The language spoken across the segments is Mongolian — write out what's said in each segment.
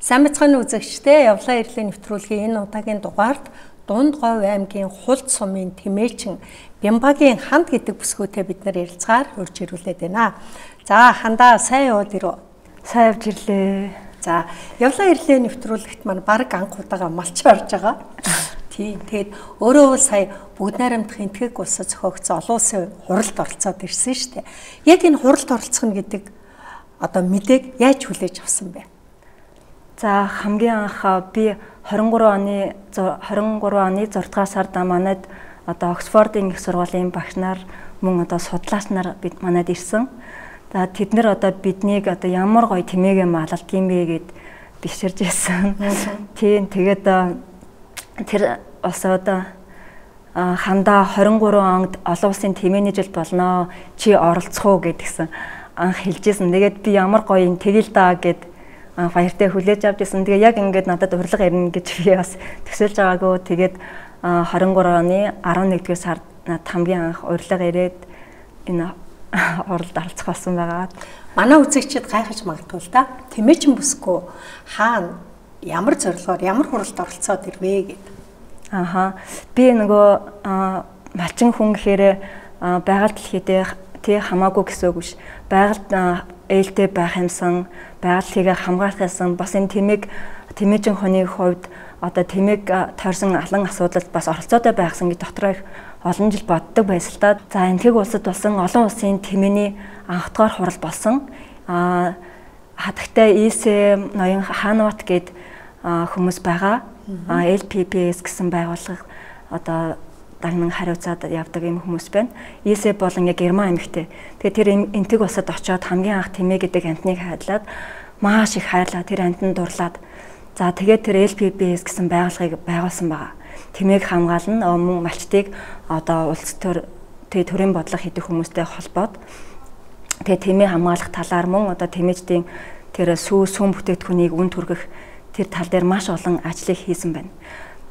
Сайн бацхан үзэгчдээ явлаа ирлийн нэвтрүүлгийн энэ удаагийн дугаард Дунд Говь аймгийн Хулд сумын Тэмээчин Бямбагийн ханд гэдэг бүсгүйтэй бид нар ярилцгаар урьж ирүүлээд байна. За хандаа сайн яваад ирв. Сайн явж ирлээ. За явлаа ирлийн нэвтрүүлэгт маань баг анх удаага малч орж байгаа. Тийм. Тэгээд өөрөө сая Бүгд найрамдах энтгэг улсад зохиогдсон олон улсын хуралд оролцоод ирсэн шүү дээ. Яг энэ хуралд оролцох нь гэдэг одоо мэдээг яаж хүлээж авсан бэ? За хамгийн анх би 23 оны 6 дугаар сард манайд одоо Оксфордын их сургуулийн багш нар мөн одоо судлаач нар манайд ирсэн. За тэд нэр одоо биднийг одоо ямар гоё тэмээгээ малалдгийм бэ гэд биширж байсан. Тийм тэгээд тэр улсууд хандаа 23 онд олон улсын тэмээний жил болно. Чи оролцох уу гэдгсэн анх хэлжсэн. Тэгээд би ямар гоё юм тэгэл даа гэд баяртай хүлээж авч ирсэн. Тэгээ яг ингээд надад урилга ирнэ гэж би бас төсөөлж байгаагүй. Тэгээд 23 оны 11-р сард хамгийн анх урилга ирээд энэ уралд оролцох болсон байгаа. Манай үзэгчид гайхаж магадгүй л да. Тэмээчин бүсгүй хаана ямар зорилгоор ямар хуралд оролцоод ирвэ гэд. Би нөгөө малчин хүн гэхээр байгаль дэлхийдээ тий хамаагүй гэсэн үг биш. Байгальд ээлтэй байх юмсан, байгаль хамгаалах юмсан бас энэ тэмээчин хүний хувьд одоо тэмээг тойрсон алан асуудалд бас оролцоотой байхсан гэж дотроо их олон жил боддог байсан л да. За энтгэг улсад болсон олон улсын тэмээний анх дахь хурал болсон. Хатагтай ИС ноён Хаанват гээд хүмүүс байгаа. LPPS гэсэн байгууллага одоо дагнан хариуцаад явдаг юм хүмүүс байна. ИС болон яг Герман эмэгтэй. Тэгээд тэр энтэг улсад очиод хамгийн анх тэмээ гэдэг амтныг хайрлаад маш их хайрлаа. Тэр амтнд дурлаад. За тэгээд тэр LPPS гэсэн байгууллагыг байгуулсан байгаа. Тэмээг хамгаална мөн малчдыг одоо улс төр төрийн бодлого хийдэг хүмүүстэй холбоод тэгээд тэмээ хамгаалах талаар мөн одоо тэмээчдийн тэр сүм бүтээгдэхүүнийг үн түргэх тэр тал дээр маш олон ажлыг хийсэн байна.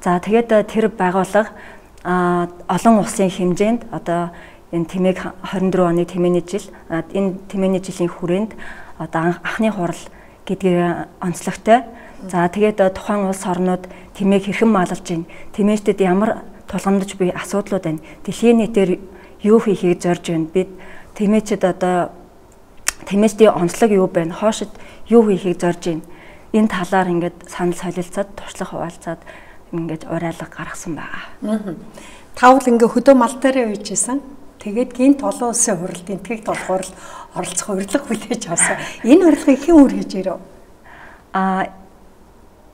За тэгээд тэр байгууллага олон улсын хэмжээнд одоо энэ тэмээг 24 оны тэмээний жил энэ тэмээний жилийн хүрээнд одоо анхны хурал гэдгээр онцлогтой. За тэгээд тухайн улс орнууд тэмээг хэрхэн маллаж байна? Тэмээчдэд ямар тулгамдж буй асуудлууд байна? Дэлхийн нийтээр юу хийхийг зорж байна? Бид тэмээчд одоо тэмээчдийн онцлог юу байна? Хоошид юу хийхийг зорж байна? Энэ талаар ингээд санал солилцоод туршлага хуваалцаад ингээд уриалга гаргасан байгаа. Тавл ингээ хөдөө мал дээр үйжсэн. Тэгээд гинт олон улсын хуралд энтгэгт болохоор оролцох урилга хүлээж авсан. Энэ урилгыг хэн үргэж ирв?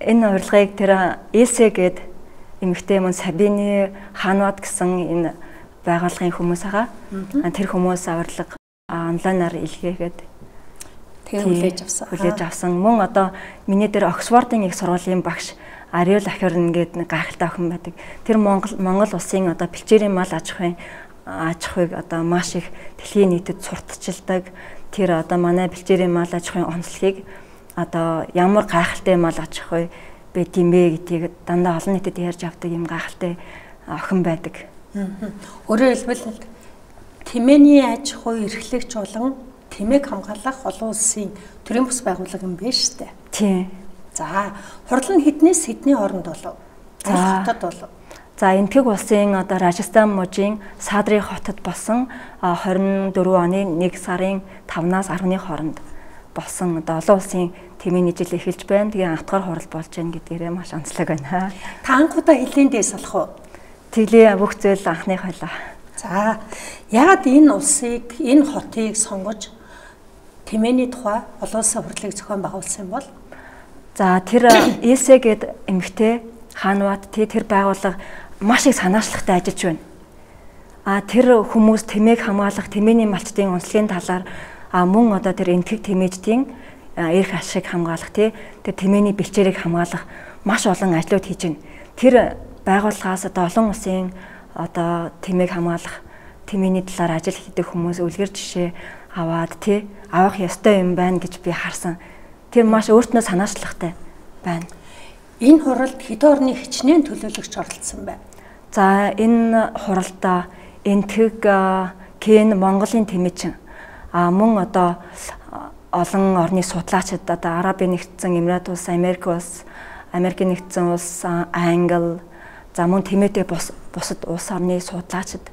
Энэ урилгыг тэр ИС гээд эмэгтэй мөн Сабины Хаанват гэсэн энэ байгууллагын хүмүүс байгаа. Тэр хүмүүс урилга онлайнаар илгээгээд хүлээж авсан. Мөн одоо миний дээр Оксфордын их сургуулийн багш Ариул Ахирн гэдэг гайхалтай охин байдаг. Тэр Монгол улсын одоо бэлчээрийн мал аж ахуйг одоо маш их дэлхийн нийтэд сурталчилдаг. Тэр одоо манай бэлчээрийн мал аж ахуйн онцлогийг одоо ямар гайхалтай мал аж ахуй байд юм бэ гэдгийг дандаа олон нийтэд ярьж авдаг юм гайхалтай охин байдаг. Өөрөөр хэлбэл тэмээний аж ахуй эрхлэгч болон тэмээг хамгаалах олон улсын төрийн бус байгууллага юм байна шүү дээ. Тийм. За, хурал нь хэднээс хэдний хооронд болов? Хотод болов? За, энтгэг улсын одоо Рajasthan мужийн Садрын хотод болсон 24 оны 1 сарын 5-наас 10-ны хооронд болсон одоо олон улсын тэмээний жил эхэлж байна. Тэгээ анх дахь хурал болж байна гэдгээрээ маш онцлог байна. Та анхудаа хэлийн дэс алах уу? Тэглээ бүх зүйл анхных байлаа. За, яагаад энэ улсыг, энэ хотыг сонгож тэмээний тухай олон улсын хурлыг зохион байгуулсан юм бол? За тэр ИС гээд эмэгтэй Хаанват тэр байгууллага маш их санаачлагтай ажиллаж байна. Тэр хүмүүс тэмээг хамгаалах, тэмээний малчдын онцлогийн талаар мөн одоо тэр энтгэг тэмээчдийн эрх ашиг хамгаалах тэр тэмээний бэлчээрийг хамгаалах маш олон ажлууд хийж байна. Тэр байгууллагаас одоо олон улсын одоо тэмээг хамгаалах, тэмээний талаар ажил хийдэг хүмүүс үлгэр жишээ аваад авах ёстой юм байна гэж би харсан. Тэр маш өөртөө санаачлагтай байна. Энэ хуралд хэдэн орны хичнээн төлөөлөгч оролцсон байна? За энэ хуралд энтгэг Кен Монголын тэмээчин мөн одоо олон орны судлаачид одоо Арабын нэгдсэн Эмират улс, Америкийн нэгдсэн улс, Англи, за мөн Тэмээтэй бусад улс орны судлаачид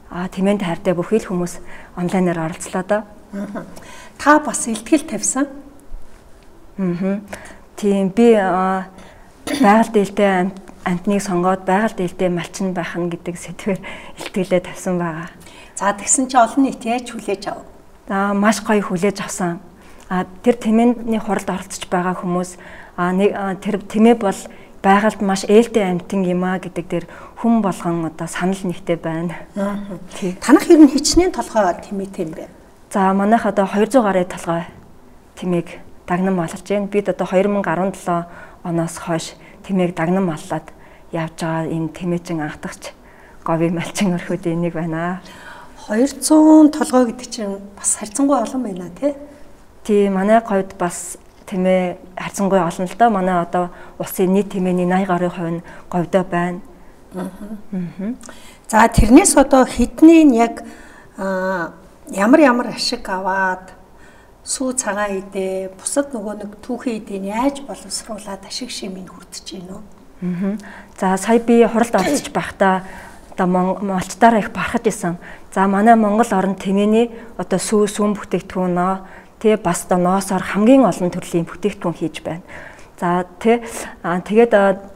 Тэмээнд хайртай бүхий л хүмүүс онлайнаар оролцлоо доо. Та бас илтгэл тавьсан. Тийм би байгаль дээлтэй амтныг сонгоод байгаль дээлтэй малчин байх нь гэдэг сэдвээр илтгэлээ тавьсан байгаа. За тэгсэн чи олон нийт яаж хүлээж ав? За маш гоё хүлээж авсан. Тэр Тэмээний хуралд оролцож байгаа хүмүүс тэр Тэмээ бол байгальд маш ээлтэй амьтан юм гэдэг дээр хүн болгон одоо санал нэгтэй байна. Танах ер нь хичнээн толгой Тэмээтэй юм бэ? За манайх одоо 200 гаруй толгой Тэмээг дагнан маллаж байна. Бид одоо 2017 оноос хойш Тэмээг дагнан маллаад явж байгаа энэ Тэмээчин анхдагч говийн малчин өрхөдийн нэг байна. 200 толгой гэдэг чинь бас харьцангуй олон байна тий? Тий, манай говьд бас Тэмээ харьцангуй олон л доо. Манай одоо улсын нийт Тэмээний 80 гаруй хувь нь говьдоо байна. За тэрнээс одоо хэдний яг ямар ашиг аваад сүү цагаан идэ бусад нөгөө нэг түүхэн идэнд яаж боловсруулад ашиг шимийг хүртэж гин үү? За сая би хуралд оролцож байхдаа одоо малчтаараа их барахж исэн. За манай Монгол орнд Тэмээний одоо сүүн бүтээгдэхүүн тэгээ бас одоо ноосоор хамгийн олон төрлийн бүтээгдэхүүн хийж байна. За тэгээд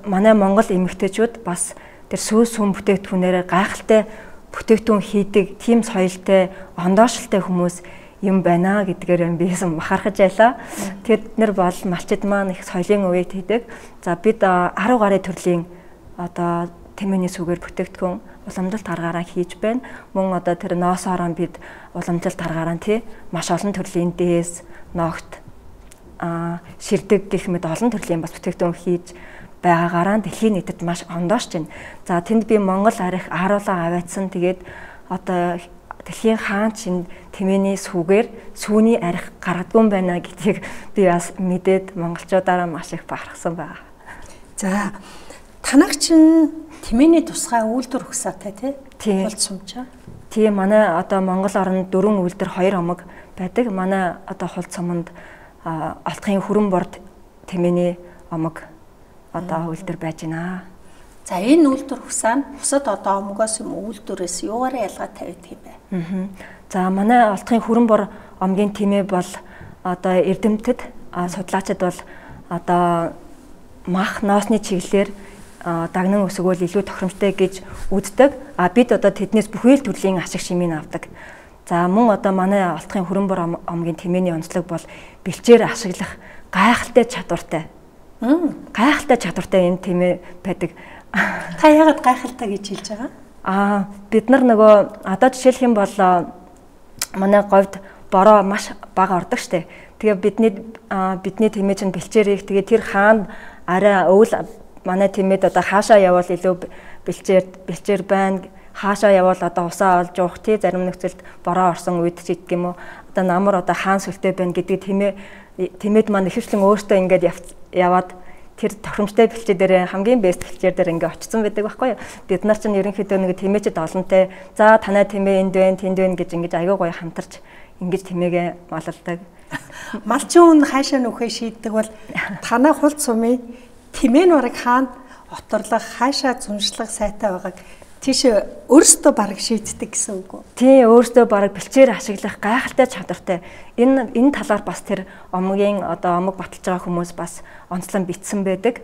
манай Монгол эмэгтэйчүүд бас тэр сүүн бүтээгдэхүүнээр гайхалтай бүтээгдэхүүн хийдэг тийм соёлтой, ондоошилтой хүмүүс юм байна гэдгээр бисэн бахархаж байлаа. Тэгэд нэр бол малчид маань их соёлын үеийг хийдэг. За бид 10 гаруй төрлийн одоо Тэмээний сүгээр бүтээгдэхүүн уламжлалт аргаараа хийж байна. Мөн одоо тэр ноосоороо бид уламжлалт аргаараа маш олон төрлийн дээс, ногт, ширдэг гэх мэт олон төрлийн бас бүтээгдэхүүн хийж байгаагаараа дэлхийн нийтэд маш ондоошж байна. За тэнд би Монгол арих ааруулаа аваадсан. Тэгээд одоо дэлхийн хаан чинь Тэмээний сүгээр сүүний арих гаргадгүй байна гэдгийг би бас мэдээд монголчуудаараа маш их бахархсан байна. За танах чинь Тэмээний тусгай үйлдвэр ухсаатай тий? Хулц сумчаа. Тий, манай одоо Монгол орнд 4 үйлдвэр 2 омог байдаг. Манай одоо хулц суманд Олдхын хүрэн борд Тэмээний омог одоо үйлдвэр байж байна. За энэ үйлдвэр ухсаа нь бусад одоо омогоос юм үйлдвэрээс юугаараа ялгаатай байдаг юм бэ? За манай Олдхын хүрэн бор омгийн Тэмээ бол одоо эрдэмтэд судлаачид бол одоо мах ноосны чиглэлээр дагнан өсгөөл илүү тохиромжтой гэж үздэг. Бид одоо тэднээс бүхий л төрлийн ашиг шимийг авдаг. За мөн одоо манай Олдхын хүрэн бор омгийн Тэмээний онцлог бол бэлчээр ашиглах гайхалтай чадвартай. Гайхалтай чадвартай энэ Тэмээ байдаг. Та яагаад гайхалтай гэж хэлж байгаа? Бид нар нөгөө одоо жишээлх юм бол манай говьд бороо маш бага ордог штэ. Тэгээ бидний Тэмээ чинь бэлчээр их. Тэгээ тэр хаан арай өвөл манай Тэмээд одоо хаашаа явбал илүү бэлчээр байна. Хаашаа явбал одоо усаа олж уух тий зарим нөхцөлд бороо орсон үед ч гэдэг юм уу. Одоо намар одоо хаан сүлтэй байна гэдэг Тэмээд маань ихэвчлэн өөртөө ингээд яваад тэр тохиромжтой бэлчээр дээр хамгийн бэст бэлчээр дээр ингээд очсон байдаг байхгүй юу. Бид нар чинь ерөнхийдөө нэг Тэмээчд олонтэй за танай Тэмээ энд байна тэнд байна гэж ингээд аягүй гоё хамтарч ингэж Тэмээгээ малладаг. Малчин хүн хаашаа нөхөө шийддэг бол танай хулц сумын Тэмээ нураг хаанд оторлох хаашаа зуншлах сайтай байгааг тийш өөрөөсөө бараг шийддэг гэсэн үг үү? Тий, өөрөөсөө бараг бэлчээр ашиглах гайхалтай чадвартай. Энэ талаар бас тэр омгийн одоо омог баталж байгаа хүмүүс бас онцлон битсэн байдаг.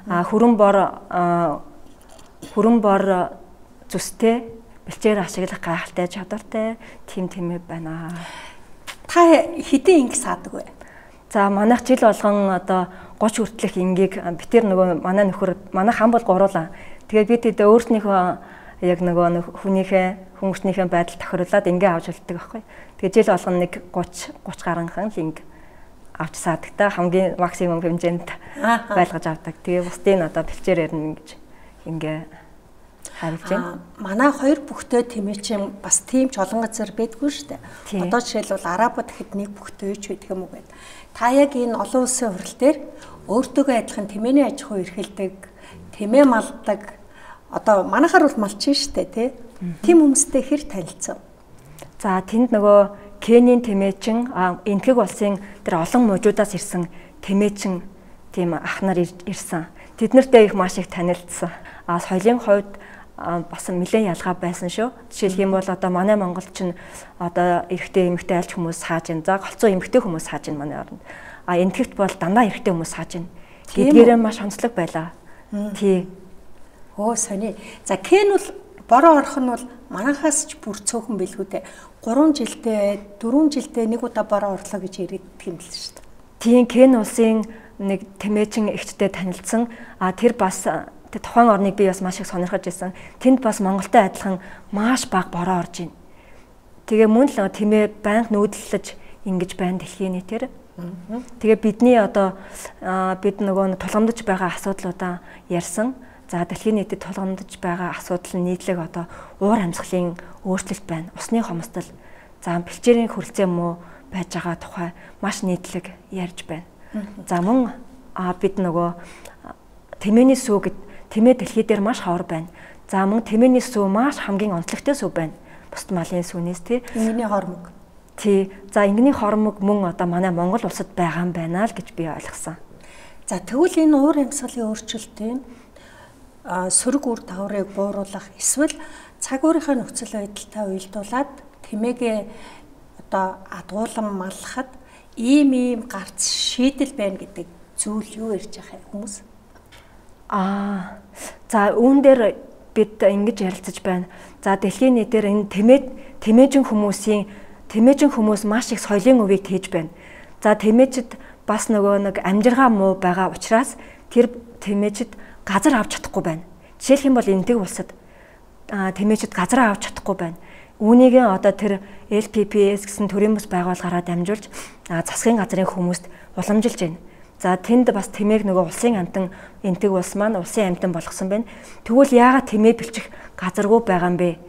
Хүрэн бор зүстэй бэлчээр ашиглах гайхалтай чадвартай тийм Тэмээ байна. Та хэдийн инг саадаг вэ? За манайх жил болгон одоо 30 хүртэлх ингийг битэр нөгөө манай нөхөр манай хан бол гуруулаа. Тэгээд бид тэд өөрснийхөө яг нөгөө хүмүүстнийхээ байдал тохируулаад ингээ авч үлддэг байхгүй. Тэгээд жил болгон нэг 30 гаруйхан инг авч саадаг та хамгийн максимум хэмжээнд байлгаж авдаг. Тэгээ бусдын одоо бэлчээр ярина гэж ингээ харилж байна. Манай хоёр бүхтэй Тэмээ чинь бас тийм ч олон газар байдгүй шүү дээ. Одоо жишээлбэл Арабууд хэд нэг бүхтэй ч байдаг юм уу гэдэг. Та яг энэ олон улсын хурал дээр өөртөөгөө адилхан Тэмээний аж ахуй эрхэлдэг, Тэмээ малдаг. Одоо манайхаар бол малчин шүү дээ, тий? Тийм хүмүүстэй хэр танилцав? За тэнд нөгөө Кенийн тэмээчин энтгэг улсын тэр олон мужуудаас ирсэн тэмээчин тийм ах нар ирсэн. Тэднэртэй их маш их танилцсан. Соёлын хувьд бас нэлээд ялгаа байсан шүү. Жишээлх юм бол одоо манай Монголд чинь одоо эрэгтэй эмэгтэй альч хүмүүс хааж ин. За голцоо эмэгтэй хүмүүс хааж ин манай оронд. Энтгэвт бол дандаа эрэгтэй хүмүүс хааж ин. Гэдгээрээ маш онцлог байлаа. Тий. Сони. За Кен бол бороо орох нь бол манайхаас ч бүр цөөхөн билгүү дээ. 3 жилдээ 4 жилдээ нэг удаа бороо орлоо гэж ирээддэг юм л шүү дээ. Тийм Кен улсын нэг тэмээчин эгчтэй танилцсан. Тэр бас тухайн орныг би бас маш их сонирхож байсан. Тэнд бас Монголтой адилхан маш бага бороо орж байна. Тэгээ мөн л тэмээ байнга нүүдэлж ингэж байна дэлхийн нийтээр. Тэгээ бидний одоо бид нөгөө тулгамдж байгаа асуудлуудаа ярьсан. За дэлхийн нийтэд тулгамдж байгаа асуудал нь нийтлэг одоо уур амьсгалын өөрчлөлт байна. Усны хомсдол, за бэлчээрийн хөрөлцөө муу байж байгаа тухай маш нийтлэг ярьж байна. За мөн бид нөгөө тэмээний сүү гэд тэмээ дэлхий дээр маш ховор байна. За мөн тэмээний сүү маш хамгийн онцлогтой сүү байна. Бусад малын сүүнээс тий. Ингэний хормог. Тий. За ингэний хормог мөн одоо манай Монгол улсад байгаа юм байна л гэж би ойлгосон. За тэгвэл энэ уур амьсгалын өөрчлөлтийн сөрөг үр дагаврыг бууруулах эсвэл цаг уурынхаа нөхцөл байдалтай уялдуулаад тэмээгээ одоо адгуулан маллахад ийм гарц шийдэл байна гэдэг зүйл юу ярьж байгаа хүмүүс? За үүн дээр бид ингэж ярилцаж байна. За дэлхийн нийтээр энэ тэмээжин хүмүүс маш их соёлын өвийг тээж байна. За тэмээчд бас нөгөө нэг амжиргаа муу байгаа учраас тэр тэмээчд газар авч чадахгүй байна. Жишээлх юм бол энтэг улсад тэмээчд газар авч чадахгүй байна. Үүнийг одоо тэр LPPS гэсэн төрийн бас байгууллагаараа дамжуулж засгийн газрын хүмүүст уламжилж байна. За тэнд бас тэмээг нөгөө улсын амтан энтэг улс маань улсын амтан болгосон байна. Тэгвэл яагаад тэмээ бэлчих газаргүй байгаа юм бэ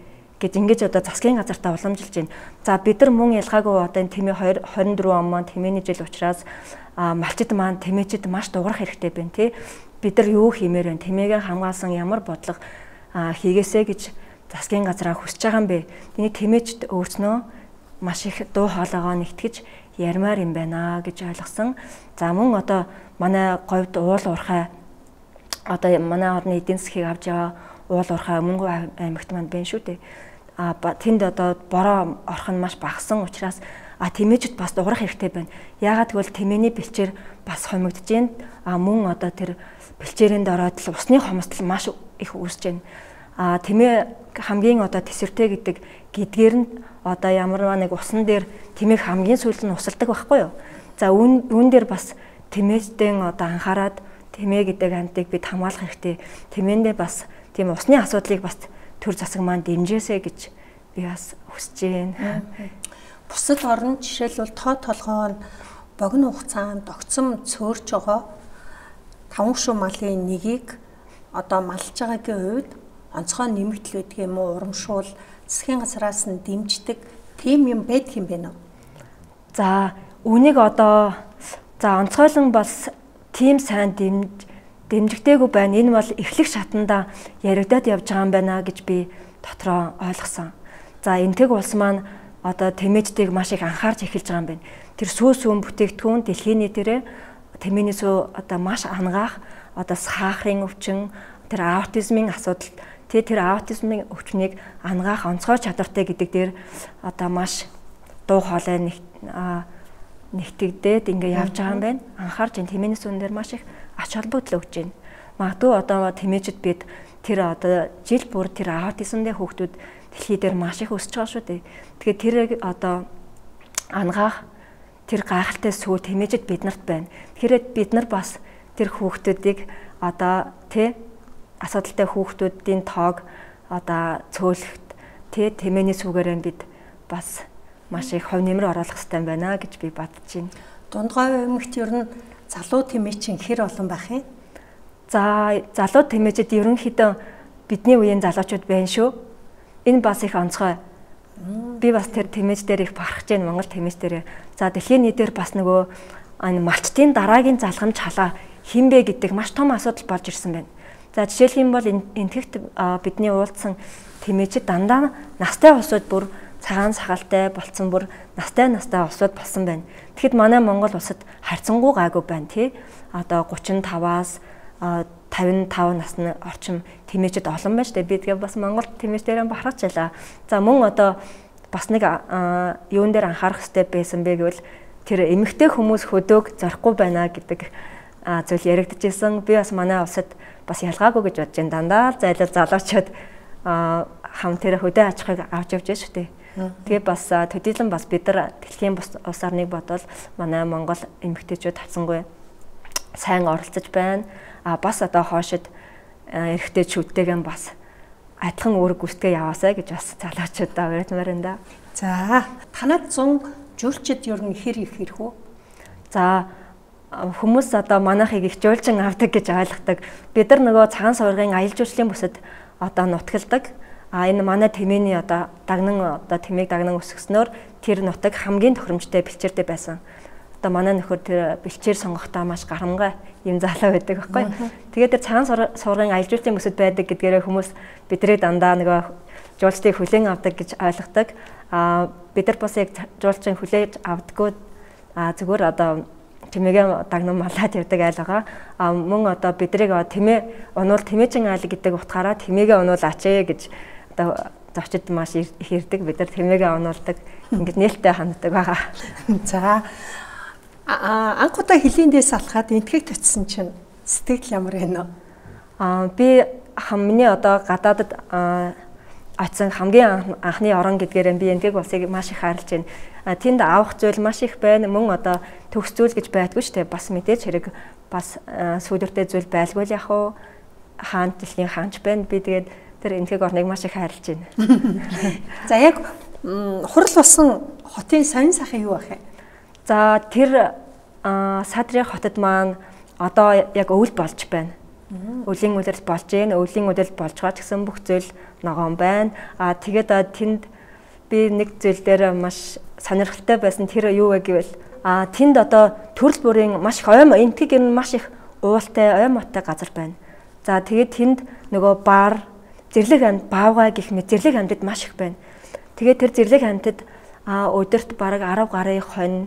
гэж ингэж одоо засгийн газартаа уламжилж байна. За бид нар мөн ялгаагүй одоо энэ тэмээ 24 он маань тэмээний жил учраас малчид маань тэмээчд маш дуурах хэрэгтэй байна тий. Бид нар юу хиймээр байна? Тэмээгээ хамгаалсан ямар бодлого хийгээсэ гэж засгийн газраа хүсэж байгаа юм бэ? Тэний тэмээчд өөрснөө маш их дуу хоолойгоо нэгтгэж ярмаар юм байна гэж ойлгосон. За мөн одоо манай говьд уул уурхай одоо манай орны эдийн засгийг авч яваа уул уурхай Өмнөг аймагт манд байна шүү дээ. Тэнд одоо бороо орох нь маш багасан учраас тэмээчд бас дуурах хэрэгтэй байна. Яагаад гэвэл тэмээний бэлчээр бас хомигдож байна. Мөн одоо тэр бэлчээрэнд ороод л усны хомсдол маш их үүсэж байна. Тэмээ хамгийн одоо тэсвэртэй гэдэг гэдгээр нь одоо ямар нэг усан дээр тэмээг хамгийн сүүлд нь усалдаг байхгүй юу? За үүн дээр бас тэмээчдэн одоо анхаарад тэмээ гэдэг антыг бид хамгаалах хэрэгтэй. Тэмээндээ бас тийм усны асуудлыг бас төр засаг маань дэмжээсэй гэж би бас хүсэж байна. Бусад орнд жишээлбэл тоо толгой нь богино хугацаанд огцом цөөрж байгаа 5 шуу малын нэгийг одоо малж байгаагийн үед онцгой нэмэгдэл байдаг юм уу, урамшуул засгийн газраас нь дэмждэг тийм юм байдаг юм байна уу? За үнийг одоо онцгойлон бас тийм сайн дэмжигдээгүй байна. Энэ бол эхлэх шатанда яригдаад явж байгаа юм байна гэж би дотроо ойлгосон. За энтэг улс маань одоо тэмээчдийг маш их анхаарч эхэлж байгаа юм байна. Тэр сүүн бүтээгдэхүүн дэлхийн нийтээрээ тэмээний сүү одоо маш ангаах одоо сахарын өвчин, тэр аутизмын асуудал, тэр аутизмын өвчнийг ангаах онцгой чадвартай гэдэг дээр одоо маш дуу хоолой нэгтгэдээд ингээ явж байгаа юм байна. Анхаарч энэ тэмээний сүүн дээр маш их ач холбогдол өгч байна. Магадгүй одоо тэмээчд бид тэр одоо жил бүр тэр аутизмтэй хүүхдүүд дэлхий дээр маш их өсөж байгаа шүү дээ. Тэгэхээр тэрийг одоо ангаах тэр гайхалтай сүү тэмээчд биднэрт байна. Тэгэхээр бид нар бас тэр хүүхдүүдийг одоо асуудалтай хүүхдүүдийн тоог одоо цөөлөхт тэмээний сүүгээрээ бид бас маш их хувь нэмэр оруулах хэрэгтэй байна гэж би бодож байна. Дундгой эмэгт ер нь залуу тэмээчин хэр олон байх юм? За залуу тэмээчд ерөнхийдөө бидний үеийн залуучууд байна шүү. Энэ бас их онцгой. Би бас тэр тэмээж дээр их бахархаж байна Монгол тэмээж дээр. За дэлхийн нийтээр бас нөгөө малчтын дараагийн залхамж халаа хинбэ гэдэг маш том асуудал болж ирсэн байна. За жишээлх юм бол энтгэгт бидний уулзсан тэмээчд дандаа настай улсууд бүр цагаан сахалтай болцсон бүр настай улсууд болсон байна. Тэгэхэд манай Монгол улсад харьцангуй гайгүй байна тий. Одоо 35-аас 55 насны орчим тэмээчд олон байна шүү дээ. Би тэгээ бас Монгол тэмээчдэрээ бахарч байлаа. За мөн одоо бас нэг юун дээр анхаарах хэрэгтэй байсан бэ гэвэл тэр эмэгтэй хүмүүс хөдөөг зорихгүй байна гэдэг зүйл яригдчихсэн. Би бас манай улсад бас ялгаагүй гэж бодож байна. Дандаа зайлал залуучууд хам тэр хөдөө аж ахуйг авч явж байна шүү дээ. Тэгээ бас төдийлөн бас бид нар дэлхийн улс орныг бодвол манай Монгол эмэгтэйчүүд хацсангүй сайн оролцож байна. Бас одоо хоошид эрэгтэйчүүдтэйгээ бас адилхан үүрэг гүйцэтгэе яваасаа гэж бас залуучуудаа уриалмаар энэ да. За танад 100 жуулчид ер нь хэр их хэрэг үү? За хүмүүс одоо манайхыг их жуулчин авдаг гэж ойлгодог. Бид нар нөгөө цагаан суврагын аялал жуулчлалын бүсэд одоо нутгалдаг. Энэ манай тэмээний одоо тэмээг дагнан өсгснөөр тэр нутаг хамгийн тохиромжтой бэлчээртэй байсан. Одоо манай нөхөр тэр бэлчээр сонгохдоо маш гарамгай юм залуу байдаг байхгүй. Тэгээд тэр цагаан суврагын аялал жуулчлалын бүсэд байдаг гэдгээрээ хүмүүс бидний дандаа нөгөө жуулчдыг хүлээн авдаг гэж ойлгодог. Бид нар бас яг жуулчин хүлээж авдаггүй зүгээр одоо тэмээгээ дагнан малаад явдаг айл байгаа. Мөн одоо бидрийг тэмээ унуул тэмээчин айл гэдэг утгаараа тэмээгээ унуулаач гэж одоо зочид маш их ирдэг. Бид нар тэмээгээ унуулдаг. Ингээд нээлттэй ханддаг байгаа. За анх удаа хилээндээс алхаад энтгэг татсан чинь сэтгэл ямар байна вэ? Би миний одоо гадаадд очсон хамгийн анхны орон гэдгээр би энтгэг улсыг маш их хайрлаж байна. Тэнд авах зүйл маш их байна. Мөн одоо төгс зүйл гэж байдгүй шүү дээ. Бас мэдээж хэрэг бас сүүлэртэй зүйл байлгүй л яг уу хаан дэлхийн хаанч байна. Би тэгээд тэр энтгэг орныг маш их хайрлаж байна. За яг хурал болсон хотын сонин сайхан юу байх вэ? За тэр Садрын хотод маань одоо яг өвөл болж байна. Өвлийн үлрэл болж байна. Өвлийн үлрэл болж байгаа ч гэсэн бүх зүйл ногоон байна. Тэгээд тэнд би нэг зүйл дээр маш сонирхолтой байсан. Тэр юу вэ гэвэл тэнд одоо төрөл бүрийн маш их энтгэг ер нь маш их уултай, моттой газар байна. За тэгээд тэнд нөгөө бар, зэрлэг амьд, баавгай гэх мэт зэрлэг амьдад маш их байна. Тэгээд тэр зэрлэг амьдад өдөрт бараг 10 гарын хонь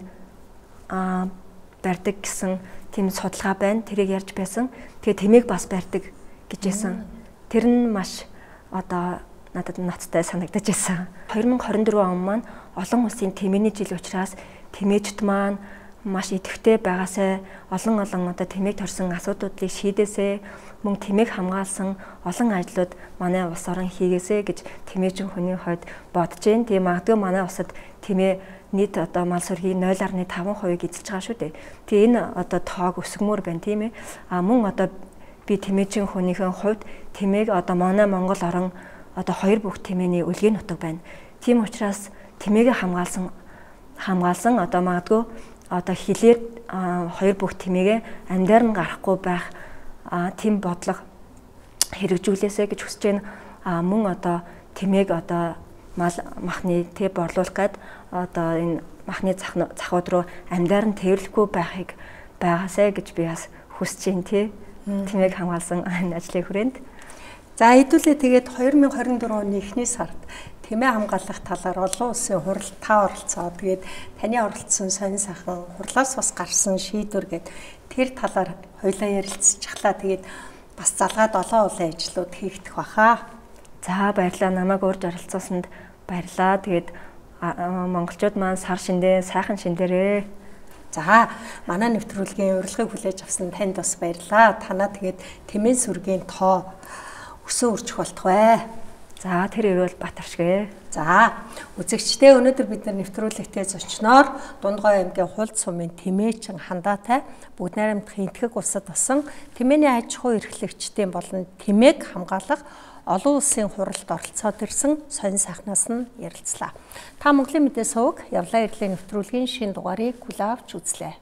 барьдаг гэсэн тийм судалгаа байна. Тэрийг ярьж байсан. Тэгээд тэмээг бас барьдаг гэж хэлсэн. Тэр нь маш одоо надад ноцтой санагдаж байсан. 2024 он маань олон улсын тэмээний жил учраас тэмээчд маань маш идэвхтэй байгаасай олон одоо тэмээг торсон асуудлуудыг шийдээсэй, мөн тэмээг хамгаалсан олон ажлууд манай улс орон хийгээсэй гэж тэмээчин хүний хувьд бодож байна. Тийм магадгүй манай улсад тэмээ нийт одоо мал сүргийн 0.5% эзэлж байгаа шүү дээ. Тэгээ энэ одоо тоог өсгмөр байна тийм ээ. Мөн одоо би тэмээчин хүнийхэн хувьд тэмээг одоо манай Монгол орон одоо 2 бүх тэмээний үлгийн нутаг байна. Тийм учраас тэмээгээ хамгаалсан одоо магадгүй одоо хилээр 2 бүх тэмээгээ амьдаар нь гарахгүй байх тийм бодлого хэрэгжүүлээсэ гэж хүсэж байна. Мөн одоо тэмээг одоо мал махны төв борлуулах гээд одоо энэ махны захууд руу амьдаар нь тэрвэрлэхгүй байхыг байгаасай гэж би бас хүсэж байна тий. Тэмээг хамгаалсан энэ ажлын хүрээнд. За хэдүүлээ тэгээд 2024 оны эхний сард тэмээ хамгаалах талаар олон улсын хурал та оролцоо. Тэгээд таны оролцсон сонин сайхан хурлаас бас гарсан шийдвэр гээд тэр талаар хоёлаа ярилцчихлаа. Тэгээд бас залгаад олон улсын ажлууд хийгдэх баха. За баярлалаа, намайг урьж оролцоосонд баярлалаа. Тэгээд монголчууд маань сар шиндээ сайхан шиндэрээ. За манай нэвтрүүлгийн урилгыг хүлээж авсан танд бас баярлалаа. Танаа тэгээд тэмээ сүргийн тоо өсөн үржих болтох бай. За тэр ирвэл Батаршгэ. За үзэгчдээ өнөөдөр бид нар нэвтрүүлэгтээ зочноор Дундгой аймгийн Хулд сумын тэмээчин хандаатай бүгд найрамдах энтгэг улсад болсон тэмээний аж ахуй эрхлэгчдийн болон тэмээг хамгаалах олон улсын хуралд оролцоод ирсэн сонин сайхнаас нь ярилцлаа. Та Монголын мэдээ суваг явлаа ирлийн нэвтрүүлгийн шинэ дугаарыг хүлээн авч үзлээ.